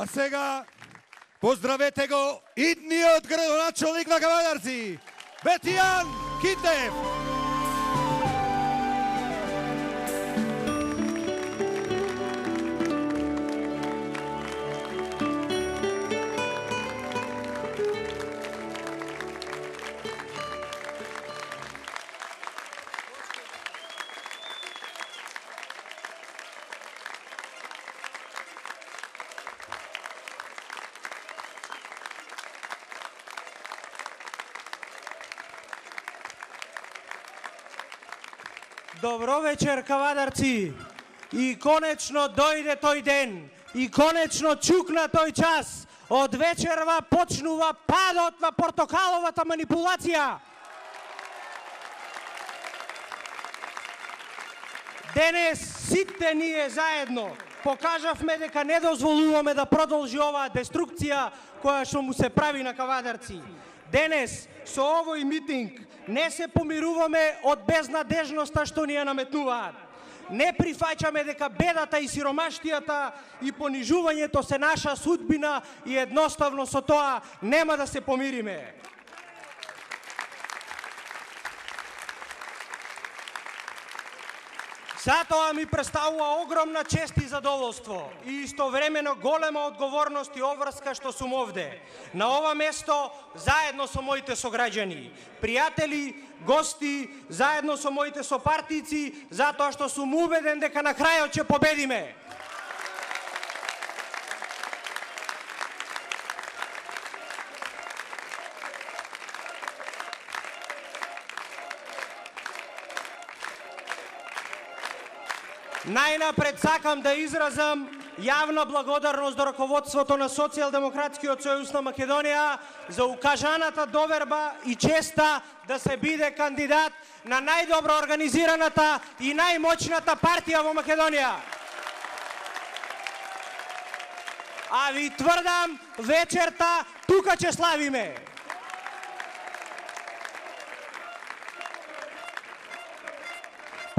А сега поздравете го идниот градоначалник на Кавадарци, Бетијан Китев. Добро вечер, Кавадарци! И конечно дојде тој ден, и конечно чукна тој час. Од вечерва почнува падот на портокаловата манипулација. Денес сите ние заедно покажавме дека не дозволуваме да продолжи оваа деструкција која што му се прави на Кавадарци. Денес со овој митинг не се помируваме од безнадежноста што ни ја наметнуваат. Не прифаќаме дека бедата и сиромаштијата и понижувањето се наша судбина и едноставно со тоа нема да се помириме. Затоа ми представува огромна чест и задоволство и истовремено голема одговорност и обврска што сум овде, на ова место, заедно со моите сограѓани, пријатели, гости, заедно со моите сопартици, затоа што сум убеден дека на крајот ќе победиме. Најнапред сакам да изразам јавна благодарност до раководството на Социјалдемократскиот сојуз на Македонија за укажаната доверба и честа да се биде кандидат на најдобро организираната и најмоćната партија во Македонија. А ви тврдам, вечерта тука ќе славиме.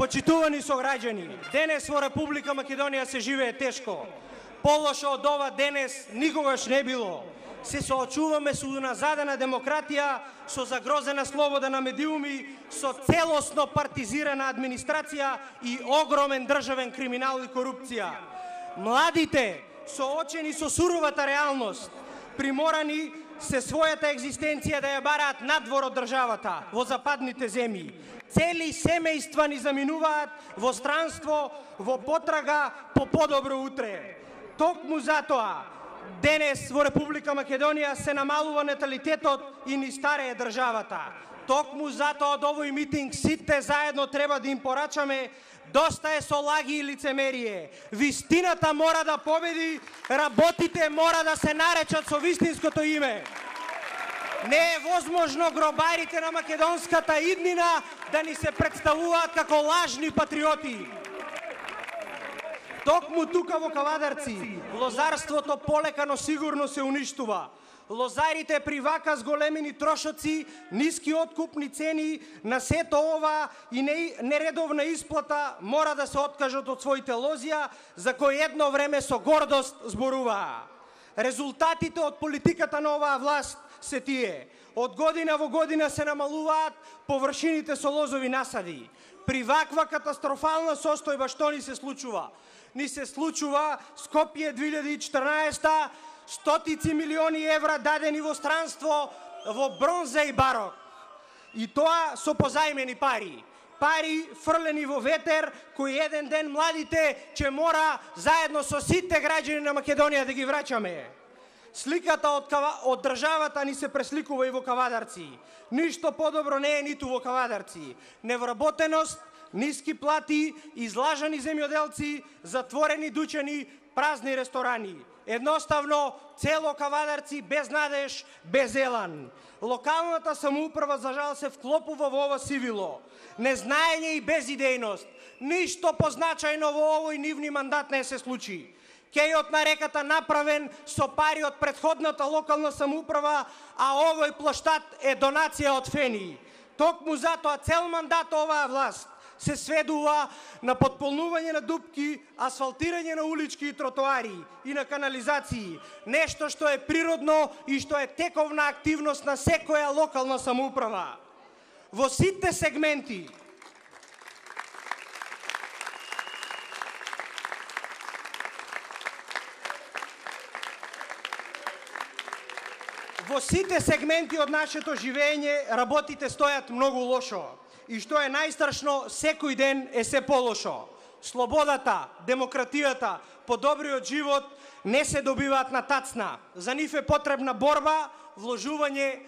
Почитувани сограѓани, денес во Република Македонија се живее тешко. Полошо од ова денес никогаш не било. Се соочуваме со уназадена демократија, со загрозена слобода на медиуми, со целосно партизирана администрација и огромен државен криминал и корупција. Младите, соочени со суровата реалност, приморани се својата екзистенција да ја бараат надвор од државата, во западните земји. Цели семејства ни заминуваат во странство, во потрага по подобро утре. Токму затоа, денес во Република Македонија се намалува наталитетот и ни старее државата. Токму затоа од овој митинг сите заедно треба да им порачаме: доста е со лаги и лицемерие. Вистината мора да победи, работите мора да се наречат со вистинското име. Не е возможно гробарите на македонската иднина да ни се представуваат како лажни патриоти. Токму тука во Кавадарци, лозарството полека но сигурно се уништува. Лозарите при вака зголемени трошоци, ниски откупни цени, на сето ова и нередовна исплата мора да се откажат од своите лозија, за кои едно време со гордост зборуваа. Резултатите од политиката на оваа власт се тие. Од година во година се намалуваат површините со лозови насади. При ваква катастрофална состојба што ни се случува? Ни се случува Скопје 2014, стотици милиони евра дадени во странство, во бронза и барок. И тоа со позајмени пари. Пари фрлени во ветер, кои еден ден младите ќе мора заедно со сите граѓани на Македонија да ги враќаме. Сликата од државата ни се пресликува и во Кавадарци. Ништо подобро не е ниту во Кавадарци. Невработеност, ниски плати, излажани земјоделци, затворени дуќани, празни ресторани. Едноставно, цело Кавадарци без надеж, без елан. Локалната самоуправа за жал се вклопува во ова сивило. Незнаење и безидејност. Ништо позначајно во овој нивни мандат не се случи. Кејот на реката направен со пари од претходната локална самоуправа, а овој плоштад е донација од фени. Токму затоа цел мандат оваа власт се сведува на потполнување на дупки, асфалтирање на улички и тротоари и на канализации. Нешто што е природно и што е тековна активност на секоја локална самоуправа. Во сите сегменти од нашето живење работите стојат многу лошо. И што е најстрашно, секој ден е се полошо. Слободата, демократијата, подобриот живот не се добиваат на тацна. За нив е потребна борба, вложување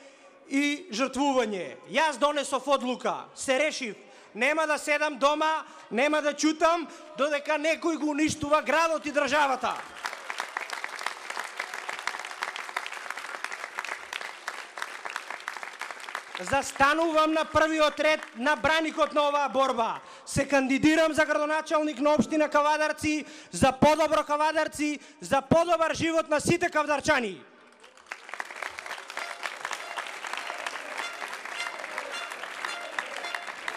и жртвување. Јас донесов одлука, се решив. Нема да седам дома, нема да чутам, додека некој го уништува градот и државата. Застанувам на првиот ред на браникот на оваа борба. Се кандидирам за градоначалник на општина Кавадарци, за подобро Кавадарци, за подобар живот на сите кавдарчани.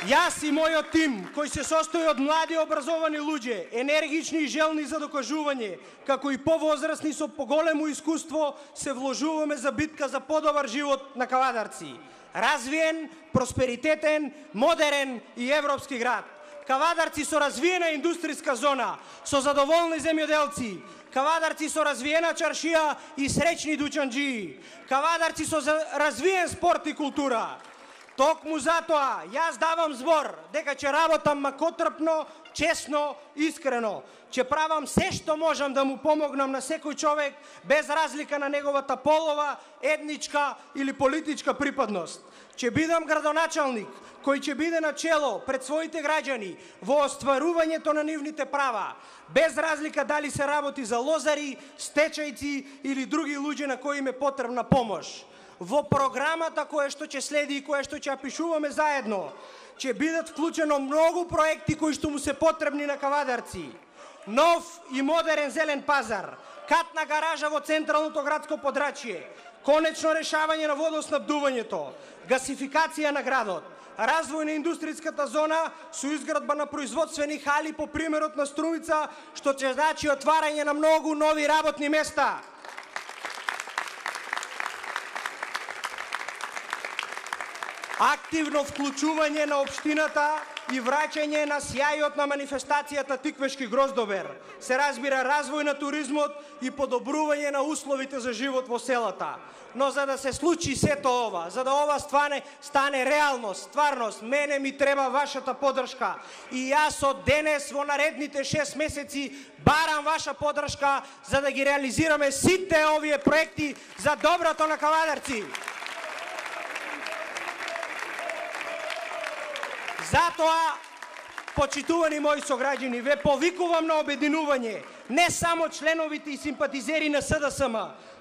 Јас и мојот тим, кој се состои од млади образовани луѓе, енергични и желни за докажување, како и повозрасни со поголемо искуство, се вложуваме за битка за подобар живот на Кавадарци. Развиен, просперитетен, модерен и европски град. Кавадарци со развиена индустријска зона, со задоволни земјоделци. Кавадарци со развиена чаршија и среќни дучанџии. Кавадарци со развиен спорт и култура. Токму затоа, јас давам збор дека ќе работам макотрпно, честно, искрено. Ќе правам се што можам да му помогнам на секој човек, без разлика на неговата полова, етничка или политичка припадност. Ќе бидам градоначалник, кој ќе биде на чело пред своите граѓани во остварувањето на нивните права, без разлика дали се работи за лозари, стечајци или други луѓе на кои им е потребна помош. Во програмата која што ќе следи и која што ќе пишуваме заедно, ќе бидат вклучено многу проекти кои што му се потребни на Кавадарци. Нов и модерен зелен пазар, катна гаража во централното градско подрачје, конечно решавање на водоснабдувањето, гасификација на градот, развој на индустријската зона со изградба на производствени хали по примерот на Струмица, што ќе значи отварање на многу нови работни места. Активно вклучување на општината и враќање на сјајот на манифестацијата Тиквешки гроздобер. Се разбира развој на туризмот и подобрување на условите за живот во селата. Но за да се случи сето ова, за да ова стане реалност, стварност, мене ми треба вашата поддршка. И јас од денес во наредните 6 месеци барам ваша поддршка за да ги реализираме сите овие проекти за доброто на Кавадарци. Затоа, почитувани мои сограѓани, ве повикувам на обединување, не само членовите и симпатизери на СДСМ,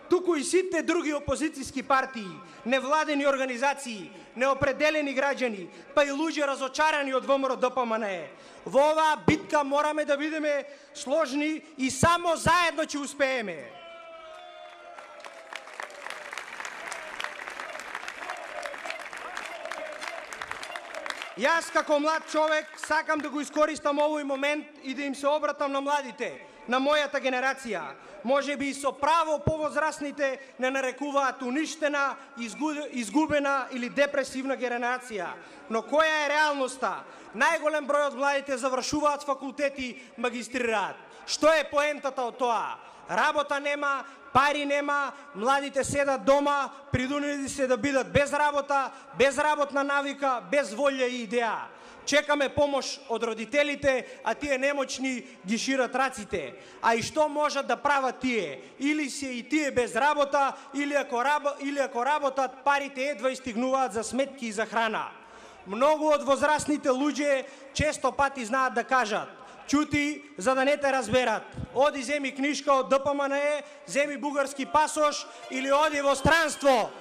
туку и сите други опозицијски партии, невладени организации, неопределени граѓани, па и луѓе разочарани од ВМРО ДПМНЕ. Во оваа битка мораме да бидеме сложни и само заедно ќе успееме. Јас како млад човек сакам да го искористам овој момент и да им се обратам на младите, на мојата генерација. Може би и со право повозрасните не нарекуваат уништена, изгубена или депресивна генерација. Но која е реалноста? Најголем број од младите завршуваат факултети, магистрираат. Што е поентата од тоа? Работа нема, пари нема, младите седат дома, придунени се да бидат без работа, без работна навика, без волја и идеја. Чекаме помош од родителите, а тие немочни ги шират раците. А и што можат да прават тие? Или се и тие без работа, или ако работат, парите едва истигнуваат за сметки и за храна. Многу од возрастните луѓе често пати знаат да кажат: чути, за да не те разберат. Оди земи книжка од ДПМНЕ, земи бугарски пасош или оди во странство.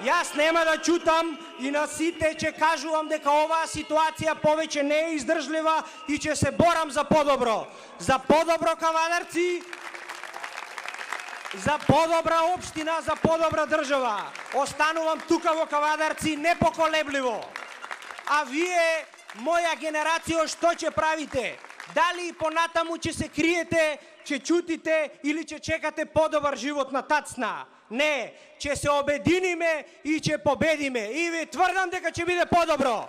Јас нема да чутам и на сите ќе кажувам дека оваа ситуација повеќе не е издржлива и ќе се борам за подобро. За подобро Кавадарци, за подобра општина, за подобра држава. Останувам тука во Кавадарци непоколебливо. А вие моја генерација, што ќе правите? Дали понатаму ќе се криете, ќе чутите или ќе чекате подобар живот на тацна? Не, ќе се обединиме и ќе победиме. И ви тврдам дека ќе биде подобро.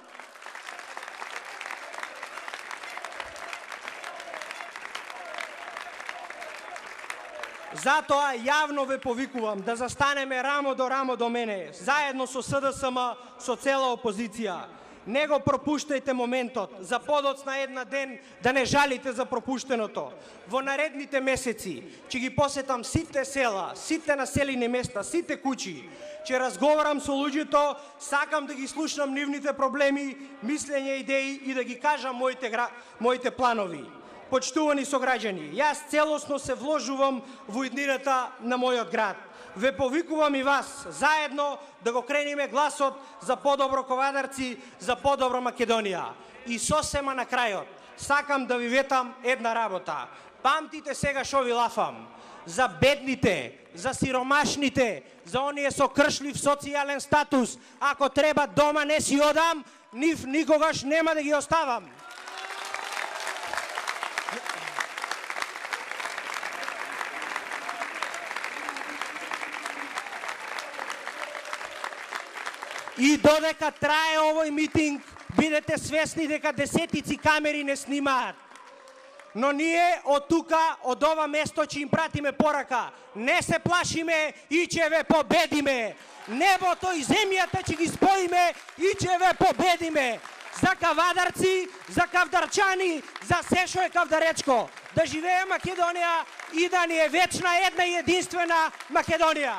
Затоа јавно ве повикувам да застанеме рамо до мене, заедно со СДСМ, со цела опозиција. Не го пропуштајте моментот, за подоцна една ден да не жалите за пропуштеното. Во наредните месеци ќе ги посетам сите села, сите населени места, сите куќи. Ќе разговарам со луѓето, сакам да ги слушнам нивните проблеми, мислења, идеи и да ги кажам моите планови. Почтувани сограѓани, јас целосно се вложувам во иднината на мојот град. Ве повикувам и вас, заедно да го крениме гласот за подобро Ковадарци, за подобро Македонија. И сосема на крајот, сакам да ви ветам една работа. Памтите сега шо ви лафам. За бедните, за сиромашните, за оние со кршлив социјален статус, ако треба дома не си одам, нив никогаш нема да ги оставам. И додека трае овој митинг, бидете свесни дека десетици камери не снимаат. Но ние од тука, од ова место ќе им пратиме порака. Не се плашиме и ќе ве победиме. Небото и земјата ќе ги споиме и ќе ве победиме. За Кавадарци, за кавдарчани, за се шо е кавдаречко. Да живее Македонија и да ни е вечна една и единствена Македонија.